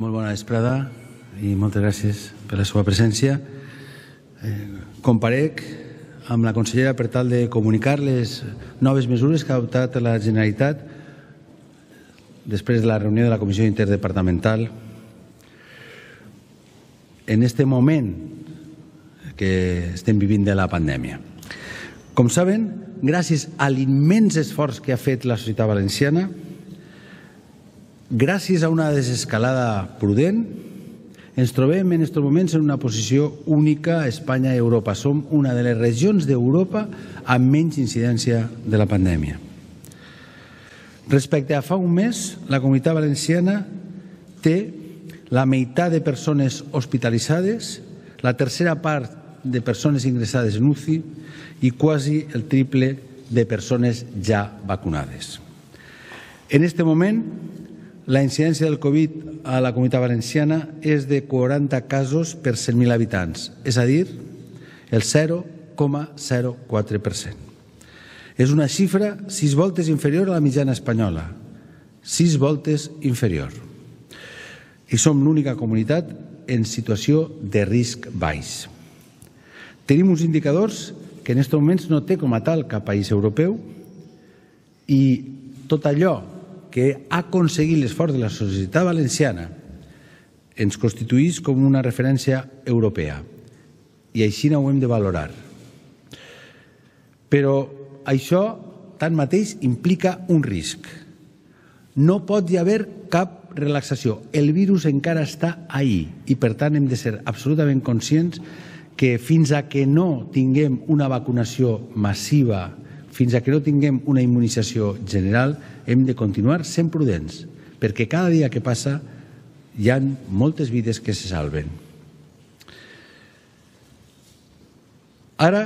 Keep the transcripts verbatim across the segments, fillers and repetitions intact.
Molt bona vesprada i moltes gràcies per la seva presència. Comparec amb la consellera per tal de comunicar les noves mesures que ha adoptat la Generalitat després de la reunió de la Comissió Interdepartamental en este moment que estem vivint de la pandèmia. Com saben, gràcies a l'immens esforç que ha fet la societat valenciana, gràcies a una desescalada prudent, ens trobem en aquests moments en una posició única a Espanya i Europa. Som una de les regions d'Europa amb menys incidència de la pandèmia. Respecte a fa un mes, la Comunitat Valenciana té la meitat de persones hospitalitzades, la tercera part de persones ingressades en U C I i quasi el triple de persones ja vacunades. En aquest moment, la incidència del Covid a la Comunitat Valenciana és de quaranta casos per cent mil habitants, és a dir, el zero coma zero quatre per cent. És una xifra sis voltes inferior a la mitjana espanyola, sis voltes inferior. I som l'única comunitat en situació de risc baix. Tenim uns indicadors que en aquests moments no té com a tal cap país europeu i tot allò que ha aconseguit l'esforç de la societat valenciana ens constituïx com una referència europea i així ho hem de valorar. Però això, tanmateix, implica un risc. No pot hi haver cap relaxació. El virus encara està ahí i, per tant, hem de ser absolutament conscients que fins a que no tinguem una vacunació massiva, fins a que no tinguem una immunització general, hem de continuar sent prudents, perquè cada dia que passa hi ha moltes vides que se salven. Ara,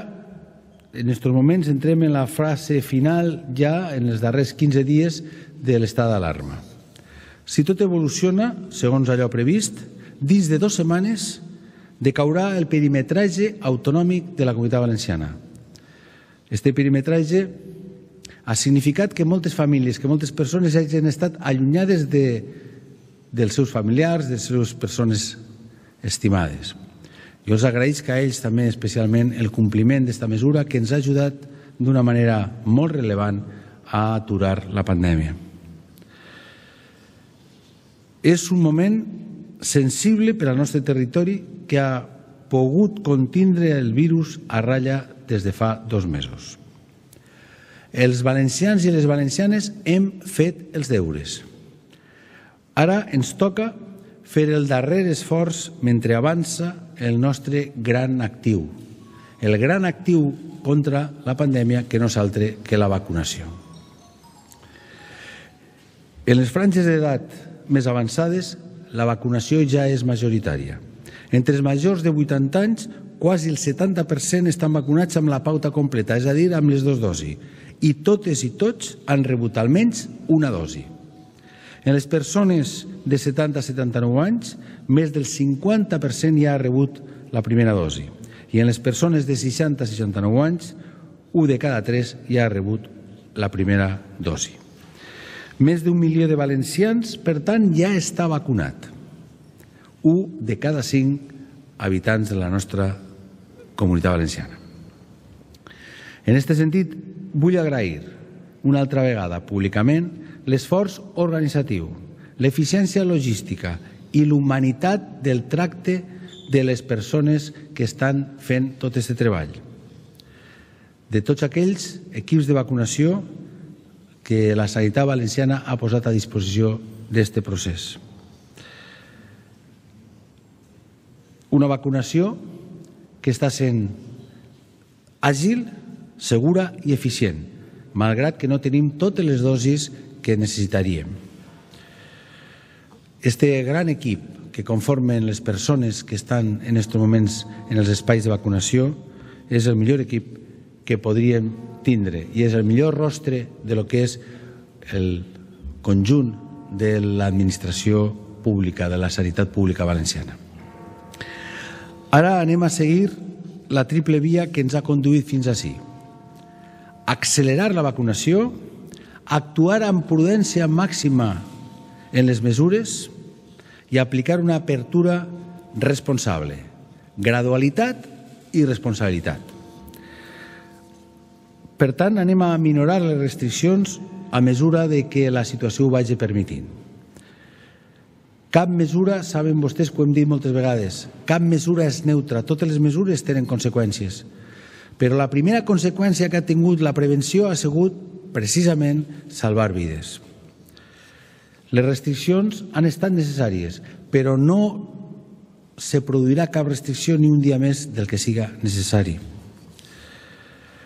en aquests moments, entrem en la fase final ja en els darrers quinze dies de l'estat d'alarma. Si tot evoluciona, segons allò previst, dins de dues setmanes decaurà el perimetratge autonòmic de la Comunitat Valenciana. Este perimetratge ha significat que moltes famílies, que moltes persones hagin estat allunyades de, dels seus familiars, de les seves persones estimades. Jo els agraïsc a ells també especialment el compliment d'esta mesura que ens ha ajudat d'una manera molt rellevant a aturar la pandèmia. És un moment sensible per al nostre territori que ha pogut contindre el virus a ratlla des de fa dos mesos. Els valencians i les valencianes hem fet els deures. Ara ens toca fer el darrer esforç mentre avança el nostre gran actiu, el gran actiu contra la pandèmia que no és altre que la vacunació. En les franges d'edat més avançades, la vacunació ja és majoritària. Entre els majors de vuitanta anys, quasi el setanta per cent estan vacunats amb la pauta completa, és a dir, amb les dues dosis, i totes i tots han rebut almenys una dosi. En les persones de setanta a setanta-nou anys, més del cinquanta per cent ja ha rebut la primera dosi, i en les persones de seixanta a seixanta-nou anys, un de cada tres ja ha rebut la primera dosi. Més d'un milió de valencians, per tant, ja està vacunat. Un de cada cinc habitants de la nostra Comunitat Valenciana. En aquest sentit, vull agrair una altra vegada públicament l'esforç organitzatiu, l'eficiència logística i l'humanitat del tracte de les persones que estan fent tot aquest treball. De tots aquells equips de vacunació que la sanitat valenciana ha posat a disposició d'aquest procés. Una vacunació que està sent àgil, segura i eficient, malgrat que no tenim totes les dosis que necessitaríem. Este gran equip que conformen les persones que estan en aquests moments en els espais de vacunació és el millor equip que podríem tindre i és el millor rostre de lo que és el conjunt de l'administració pública, de la sanitat pública valenciana. Ara anem a seguir la triple via que ens ha conduït fins ací. Accelerar la vacunació, actuar amb prudència màxima en les mesures i aplicar una apertura responsable, gradualitat i responsabilitat. Per tant, anem a minorar les restriccions a mesura de que la situació ho vagi permitint. Cap mesura, saben vostès que ho hem dit moltes vegades, cap mesura és neutra, totes les mesures tenen conseqüències. Però la primera conseqüència que ha tingut la prevenció ha sigut precisament salvar vides. Les restriccions han estat necessàries, però no se produirà cap restricció ni un dia més del que siga necessari.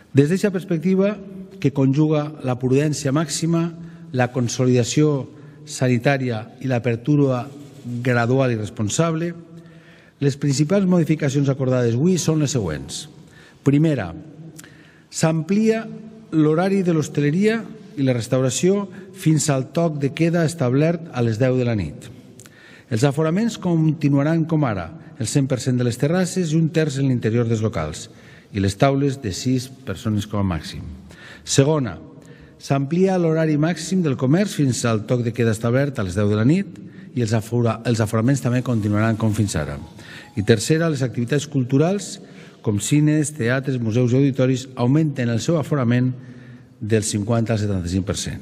Des d'aquesta perspectiva, que conjuga la prudència màxima, la consolidació sanitària i l'apertura gradual i responsable, les principals modificacions acordades avui són les següents. Primera, s'amplia l'horari de l'hostaleria i la restauració fins al toc de queda establert a les deu de la nit. Els aforaments continuaran com ara, el cent per cent de les terrasses i un terç en l'interior dels locals, i les taules de sis persones com a màxim. Segona, s'amplia l'horari màxim del comerç fins al toc de queda establert a les deu de la nit i els aforaments també continuaran com fins ara. I tercera, les activitats culturals com cines, teatres, museus i auditoris augmenten el seu aforament del cinquanta al setanta-cinc per cent.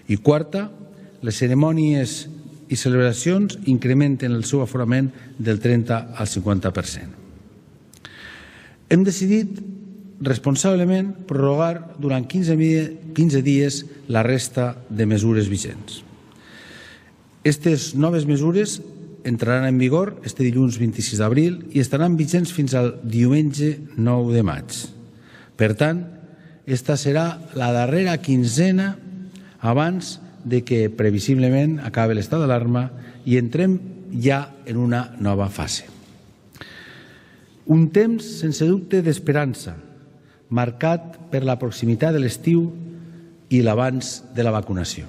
I quarta, les cerimònies i celebracions incrementen el seu aforament del trenta al cinquanta per cent. Hem decidit responsablement prorrogar durant quinze dies la resta de mesures vigents. Aquestes noves mesures entraran en vigor este dilluns vint-i-sis d'abril i estaran vigents fins al diumenge nou de maig. Per tant, esta serà la darrera quinzena abans de que previsiblement acabi l'estat d'alarma i entrem ja en una nova fase. Un temps, sense dubte, d'esperança, marcat per la proximitat de l'estiu i l'avanç de la vacunació.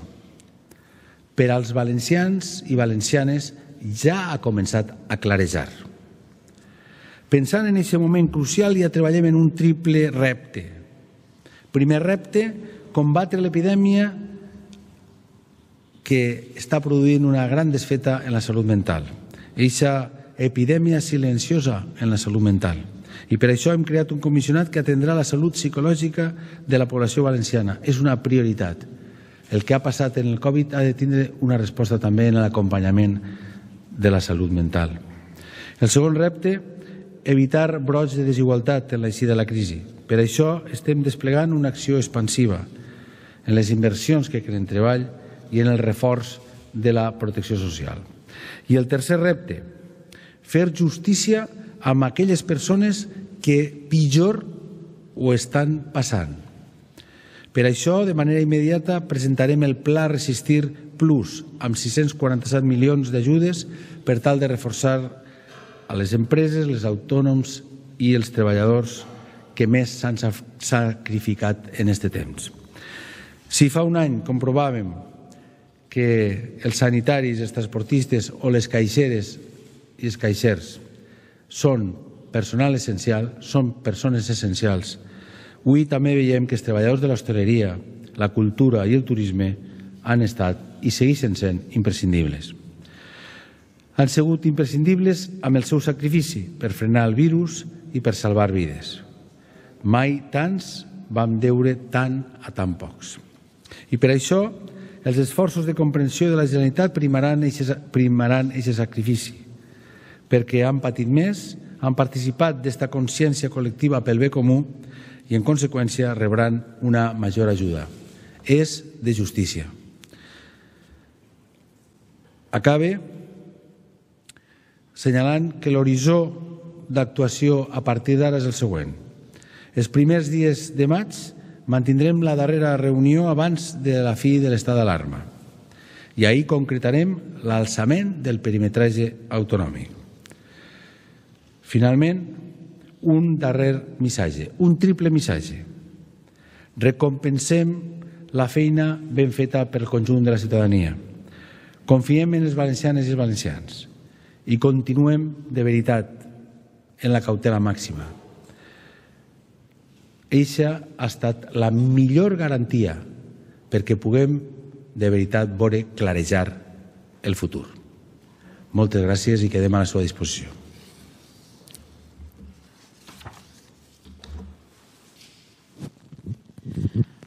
Per als valencians i valencianes ja ha començat a clarejar. Pensant en aquest moment crucial, ja treballem en un triple repte. Primer repte, combatre l'epidèmia que està produint una gran desfeta en la salut mental. Eixa epidèmia silenciosa en la salut mental. I per això hem creat un comissionat que atendrà la salut psicològica de la població valenciana. És una prioritat. El que ha passat en el Covid ha de tindre una resposta també en l'acompanyament de la salut mental. El segon repte, evitar brots de desigualtat en l'eixida de la crisi. Per això estem desplegant una acció expansiva en les inversions que creen treball i en el reforç de la protecció social. I el tercer repte, fer justícia amb aquelles persones que pitjor ho estan passant. Per això, de manera immediata, presentarem el Pla Resistir Plus amb sis-cents quaranta-set milions d'ajudes per tal de reforçar a les empreses, els autònoms i els treballadors que més s'han sacrificat en aquest temps. Si fa un any comprovàvem que els sanitaris, els transportistes o les caixeres i els caixers són personal essencial, són persones essencials, avui també veiem que els treballadors de l'hostaleria, la cultura i el turisme han estat i segueixen sent imprescindibles. Han sigut imprescindibles amb el seu sacrifici per frenar el virus i per salvar vides. Mai tants vam deure tant a tan pocs. I per això els esforços de comprensió de la Generalitat primaran aquest sacrifici, perquè han patit més, han participat d'esta consciència col·lectiva pel bé comú i, en conseqüència, rebran una major ajuda. És de justícia. Acabe assenyalant que l'horitzó d'actuació a partir d'ara és el següent. Els primers dies de maig mantindrem la darrera reunió abans de la fi de l'estat d'alarma i ahir concretarem l'alçament del perimetratge autonòmic. Finalment, un darrer missatge, un triple missatge. Recompensem la feina ben feta pel conjunt de la ciutadania. Confiem en les valencianes i els valencians i continuem de veritat en la cautela màxima. Eixa ha estat la millor garantia perquè puguem de veritat veure clarejar el futur. Moltes gràcies i quedem a la seva disposició.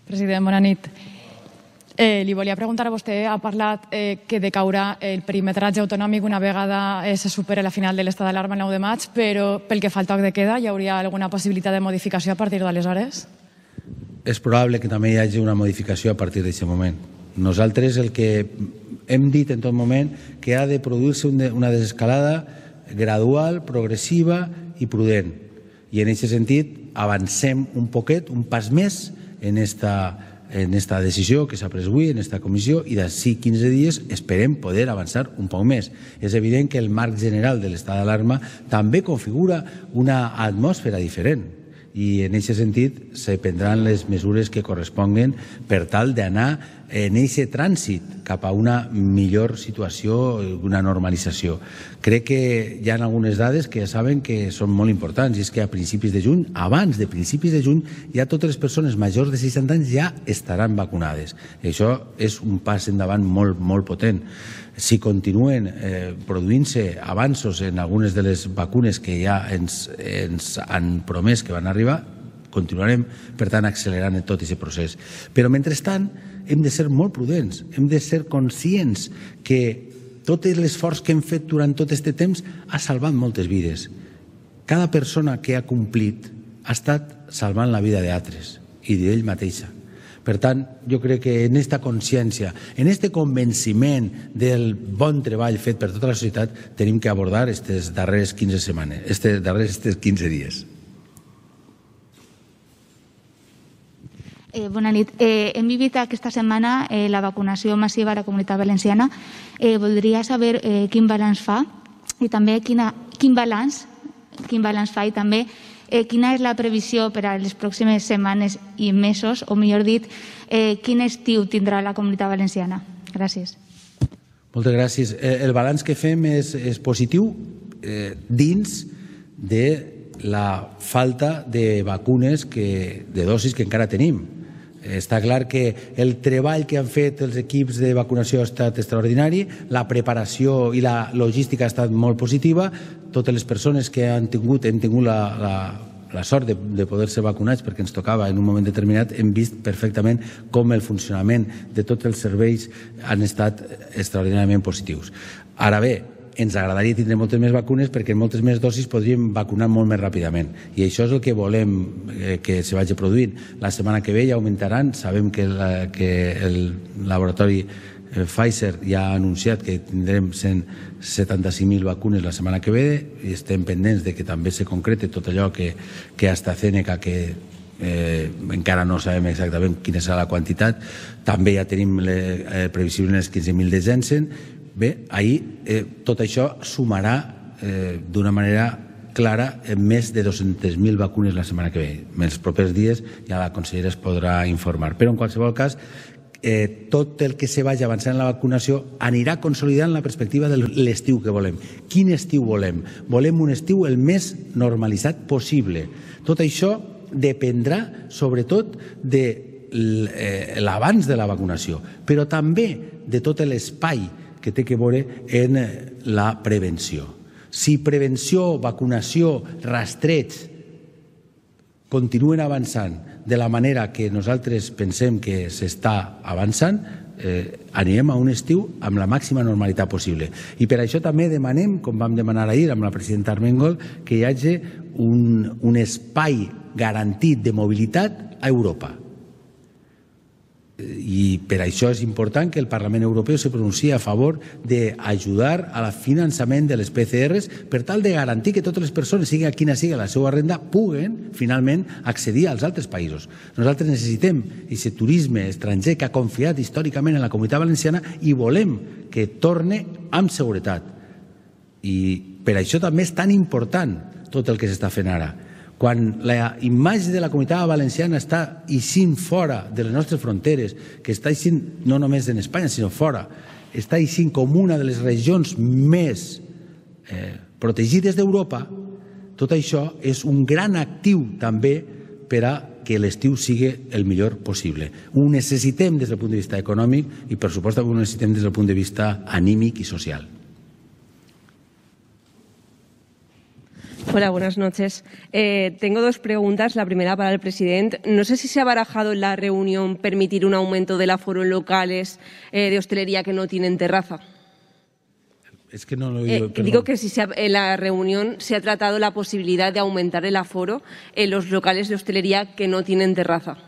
President, bona nit. Eh, li volia preguntar a vostè, ha parlat eh, que decaurà el perimetratge autonòmic una vegada eh, se supere la final de l'estat d'alarma el nou de maig, però pel que fa al toc de queda, hi hauria alguna possibilitat de modificació a partir d'aleshores? És probable que també hi hagi una modificació a partir d'aquest moment. Nosaltres el que hem dit en tot moment que ha de produir-se una desescalada gradual, progressiva i prudent. I en aquest sentit avancem un poquet, un pas més en esta en esta decisió que s'ha pres avui, en esta comissió, i d'ací quinze dies esperem poder avançar un poc més. És evident que el marc general de l'estat d'alarma també configura una atmosfera diferent i en aquest sentit se prendran les mesures que corresponguen per tal d'anar en aquest trànsit cap a una millor situació, una normalització. Crec que hi ha algunes dades que ja saben que són molt importants, i és que a principis de juny, abans de principis de juny, ja totes les persones majors de seixanta anys ja estaran vacunades. I això és un pas endavant molt, molt potent. Si continuen eh, produint-se avanços en algunes de les vacunes que ja ens, ens han promès que van arribar, continuarem, per tant, accelerant en tot aquest procés. Però, mentrestant, hem de ser molt prudents, hem de ser conscients que tot l'esforç que hem fet durant tot aquest temps ha salvat moltes vides. Cada persona que ha complit ha estat salvant la vida d'altres i d'ell mateixa. Per tant, jo crec que en aquesta consciència, en aquest convenciment del bon treball fet per tota la societat, tenim que abordar aquestes darreres quinze setmanes, aquests darrers quinze dies. Eh, bona nit. Eh, hem vivit aquesta setmana eh, la vacunació massiva a la Comunitat Valenciana. Eh, voldria saber eh, quin balanç fa i també quina, quin balanç quin balanç fa i també eh, quina és la previsió per a les pròximes setmanes i mesos, o millor dit, eh, quin estiu tindrà la Comunitat Valenciana. Gràcies. Moltes gràcies. El balanç que fem és, és positiu eh, dins de la falta de vacunes, que, de dosis que encara tenim. Està clar que el treball que han fet els equips de vacunació ha estat extraordinari, la preparació i la logística ha estat molt positiva, totes les persones que han tingut, hem tingut la, la, la sort de, de poder ser vacunats perquè ens tocava en un moment determinat, hem vist perfectament com el funcionament de tots els serveis han estat extraordinàriament positius. Ara bé, ens agradaria tindre moltes més vacunes perquè en moltes més dosis podríem vacunar molt més ràpidament. I això és el que volem eh, que se vagi produint. La setmana que ve ja augmentaran. Sabem que, la, que el laboratori eh, Pfizer ja ha anunciat que tindrem cent setanta-cinc mil vacunes la setmana que ve i estem pendents de que també se concrete tot allò que, que AstraZeneca, que eh, encara no sabem exactament quina serà la quantitat. També ja tenim le, eh, previsibles quinze mil de Janssen. Bé, ahir eh, tot això sumarà eh, d'una manera clara en més de dos-centes mil vacunes la setmana que ve. En els propers dies ja la consellera es podrà informar. Però en qualsevol cas, eh, tot el que se vagi avançant en la vacunació anirà consolidant la perspectiva de l'estiu que volem. Quin estiu volem? Volem un estiu el més normalitzat possible. Tot això dependrà sobretot de l'abans de la vacunació, però també de tot l'espai que té que veure en la prevenció. Si prevenció, vacunació, rastreig continuen avançant de la manera que nosaltres pensem que s'està avançant, eh, anirem a un estiu amb la màxima normalitat possible. I per això també demanem, com vam demanar ahir amb la presidenta Armengol, que hi hagi un, un espai garantit de mobilitat a Europa. I per això és important que el Parlament Europeu se pronunciï a favor d'ajudar al finançament de les P C Rs per tal de garantir que totes les persones, sigui quina sigui la seva renda, puguen finalment accedir als altres països. Nosaltres necessitem aquest turisme estranger que ha confiat històricament en la Comunitat Valenciana i volem que torne amb seguretat. I per això també és tan important tot el que s'està fent ara. Quan la imatge de la Comunitat Valenciana està eixint fora de les nostres fronteres, que està eixint no només en Espanya, sinó fora, està eixint com una de les regions més eh, protegides d'Europa, tot això és un gran actiu també per a que l'estiu sigui el millor possible. Ho necessitem des del punt de vista econòmic i, per supost, ho necessitem des del punt de vista anímic i social. Hola, buenas noches. Eh, tengo dos preguntas. La primera para el presidente. No sé si se ha barajado en la reunión permitir un aumento del aforo en locales eh, de hostelería que no tienen terraza. Es que no lo he oído, eh, digo que si se ha, en la reunión se ha tratado la posibilidad de aumentar el aforo en los locales de hostelería que no tienen terraza.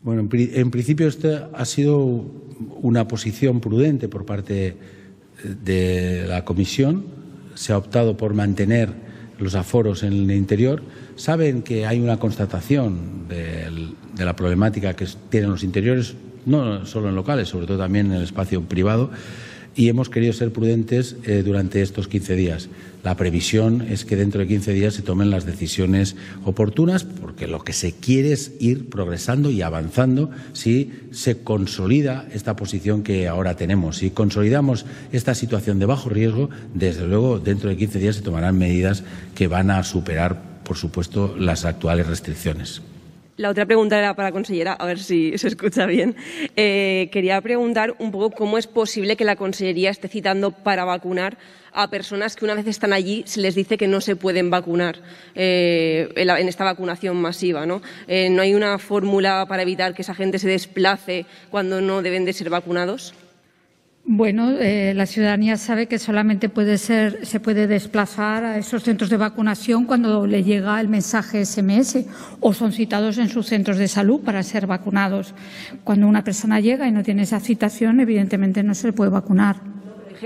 Bueno, en, en principio esta ha sido una posición prudente por parte de la Comisión. Se ha optado por mantener los aforos en el interior. Saben que hay una constatación de, de la problemática que tienen los interiores, no solo en locales, sobre todo también en el espacio privado, y hemos querido ser prudentes eh, durante estos quince días. La previsión es que dentro de quince días se tomen las decisiones oportunas, porque lo que se quiere es ir progresando y avanzando si se consolida esta posición que ahora tenemos. Si consolidamos esta situación de bajo riesgo, desde luego dentro de quince días se tomarán medidas que van a superar, por supuesto, las actuales restricciones. La otra pregunta era para la consellera, a ver si se escucha bien. Eh, quería preguntar un poco cómo es posible que la consellería esté citando para vacunar a personas que una vez están allí se les dice que no se pueden vacunar eh, en, la, en esta vacunación masiva, ¿no? Eh, ¿No hay una fórmula para evitar que esa gente se desplace cuando no deben de ser vacunados? Bueno, eh, la ciudadanía sabe que solamente puede ser, se puede desplazar a esos centros de vacunación cuando le llega el mensaje ese eme ese o son citados en sus centros de salud para ser vacunados. Cuando una persona llega y no tiene esa citación, evidentemente no se le puede vacunar.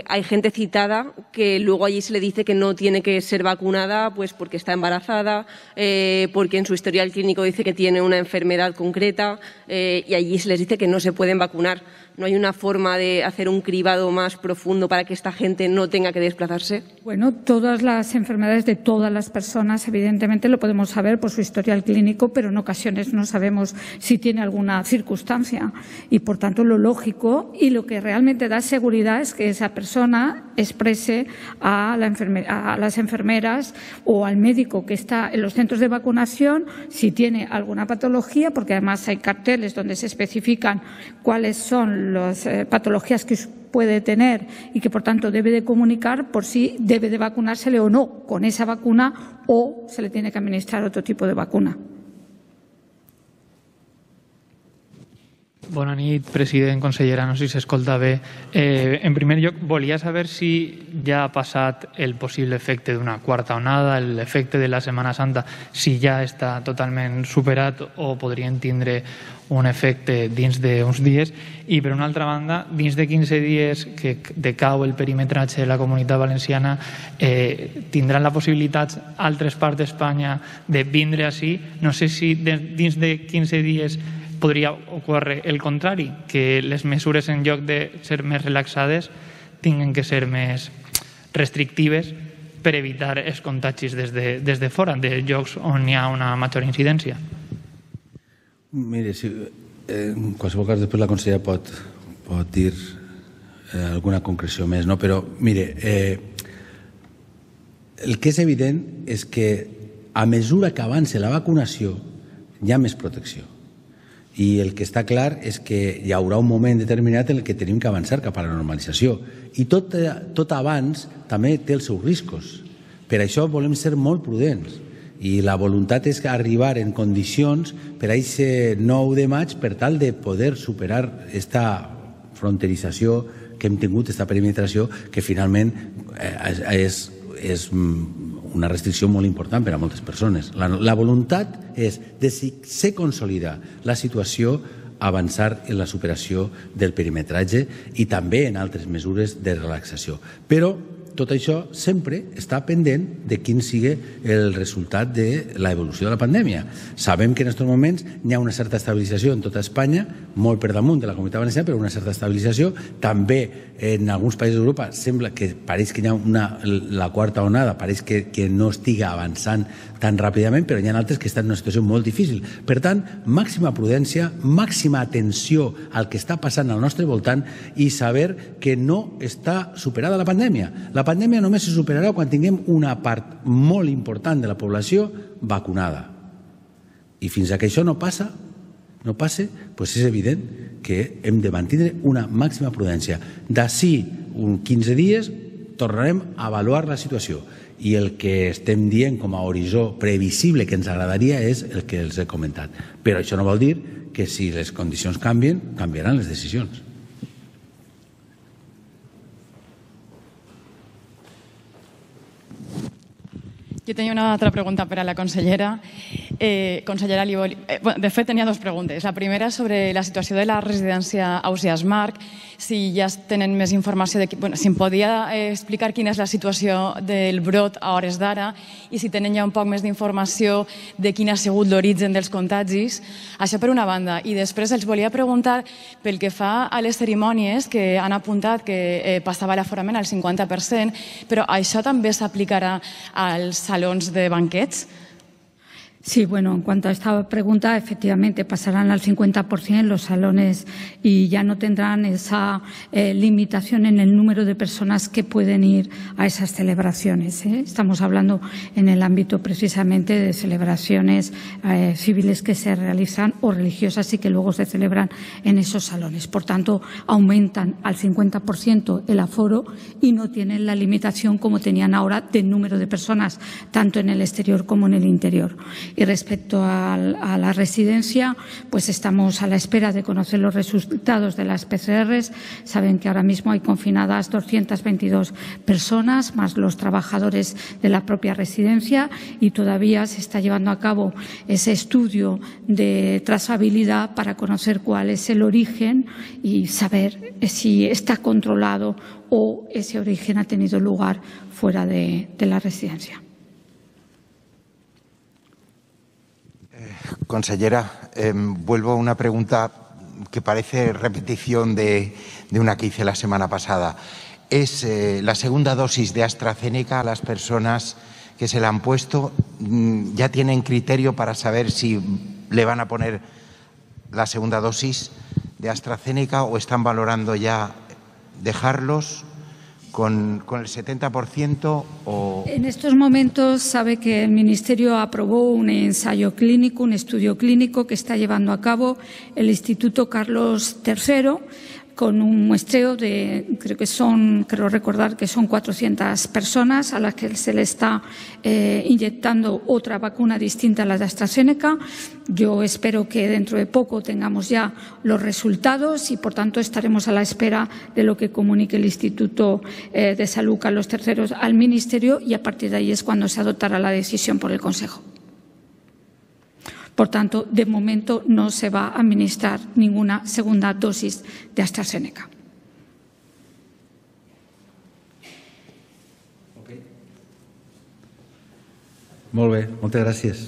Hay gente citada que luego allí se le dice que no tiene que ser vacunada pues porque está embarazada, eh, porque en su historial clínico dice que tiene una enfermedad concreta eh, y allí se les dice que no se pueden vacunar. ¿No hay una forma de hacer un cribado más profundo para que esta gente no tenga que desplazarse? Bueno, todas las enfermedades de todas las personas, evidentemente, lo podemos saber por su historial clínico, pero en ocasiones no sabemos si tiene alguna circunstancia. Y, por tanto, lo lógico y lo que realmente da seguridad es que esa persona exprese a, la enferme- a las enfermeras o al médico que está en los centros de vacunación si tiene alguna patología, porque además hay carteles donde se especifican cuáles son las eh, patologías que puede tener y que, por tanto, debe de comunicar por si debe de vacunársele o no con esa vacuna o se le tiene que administrar otro tipo de vacuna. Bona nit, president, consellera, no sé si s'escolta bé. Eh, en primer lloc, volia saber si ja ha passat el possible efecte d'una quarta onada, l'efecte de la Setmana Santa, si ja està totalment superat o podrien tindre un efecte dins d'uns dies. I, per una altra banda, dins de quinze dies que decau el perimetratge de la Comunitat Valenciana, eh, tindran la possibilitat altres parts d'Espanya de vindre així. No sé si dins de quinze dies podria ocórrer el contrari, que les mesures en lloc de ser més relaxades tinguin que ser més restrictives per evitar els contagis des de, des de fora, de llocs on hi ha una major incidència. Mire, si, eh, en qualsevol cas després la consellera pot, pot dir eh, alguna concreció més, no? Però mire, eh, el que és evident és que a mesura que avança la vacunació hi ha més protecció. I el que està clar és que hi haurà un moment determinat en què tenim que avançar cap a la normalització. I tot, tot abans també té els seus riscos. Per això volem ser molt prudents. I la voluntat és arribar en condicions per a aquest nou de maig per tal de poder superar aquesta fronterització que hem tingut, aquesta perimetració, que finalment és, és una restricció molt important per a moltes persones. La, la voluntat és, de si se consolida la situació, avançar en la superació del perimetratge i també en altres mesures de relaxació. Però tot això sempre està pendent de quin sigui el resultat de l'evolució de la pandèmia. Sabem que en aquests moments hi ha una certa estabilització en tota Espanya, molt per damunt de la Comunitat Valenciana, però una certa estabilització. També en alguns països d'Europa sembla que pareix que hi ha una, la quarta onada, pareix que, que no estiga avançant tan ràpidament, però hi ha altres que estan en una situació molt difícil. Per tant, màxima prudència, màxima atenció al que està passant al nostre voltant i saber que no està superada la pandèmia. La pandèmia només se superarà quan tinguem una part molt important de la població vacunada. I fins que això no passa, no passe, doncs és evident que hem de mantenir una màxima prudència. D'ací uns quinze dies tornarem a avaluar la situació i el que estem dient com a horitzó previsible que ens agradaria és el que els he comentat. Però això no vol dir que si les condicions canvien, canviaran les decisions. Jo tenia una altra pregunta per a la consellera. Eh, consellera, li vol... eh, bueno, de fet, tenia dues preguntes. La primera sobre la situació de la residència Ausiàs Marc, si ja tenen més informació, de... bueno, si em podia eh, explicar quina és la situació del brot a hores d'ara i si tenen ja un poc més d'informació de quin ha sigut l'origen dels contagis. Això per una banda. I després els volia preguntar pel que fa a les cerimònies que han apuntat que eh, passava l'aforament al cinquanta per cent, però això també s'aplicarà als salons de banquets. Sí, bueno, en cuanto a esta pregunta, efectivamente pasarán al cincuenta por ciento los salones y ya no tendrán esa eh, limitación en el número de personas que pueden ir a esas celebraciones, ¿eh? Estamos hablando en el ámbito precisamente de celebraciones eh, civiles que se realizan o religiosas y que luego se celebran en esos salones. Por tanto, aumentan al cincuenta por ciento el aforo y no tienen la limitación como tenían ahora del número de personas, tanto en el exterior como en el interior. Y respecto a, a la residencia, pues estamos a la espera de conocer los resultados de las P C Rs. Saben que ahora mismo hay confinadas doscientas veintidós personas, más los trabajadores de la propia residencia, y todavía se está llevando a cabo ese estudio de trazabilidad para conocer cuál es el origen y saber si está controlado o ese origen ha tenido lugar fuera de, de la residencia. Consellera, eh, vuelvo a una pregunta que parece repetición de, de una que hice la semana pasada. ¿Es eh, la segunda dosis de AstraZeneca a las personas que se la han puesto? ¿Ya tienen criterio para saber si le van a poner la segunda dosis de AstraZeneca o están valorando ya dejarlos con, con el setenta por ciento? O... En estos momentos sabe que el Ministerio aprobó un ensayo clínico, un estudio clínico que está llevando a cabo el Instituto Carlos tercero, con un muestreo de, creo que son, creo recordar que son cuatrocientas personas a las que se le está eh, inyectando otra vacuna distinta a la de AstraZeneca. Yo espero que dentro de poco tengamos ya los resultados y, por tanto, estaremos a la espera de lo que comunique el Instituto eh, de Salud Carlos tercero al Ministerio, y a partir de ahí es cuando se adoptará la decisión por el Consejo. Por tanto, de momento no se va a administrar ninguna segunda dosis de AstraZeneca. Molt bé, moltes gràcies.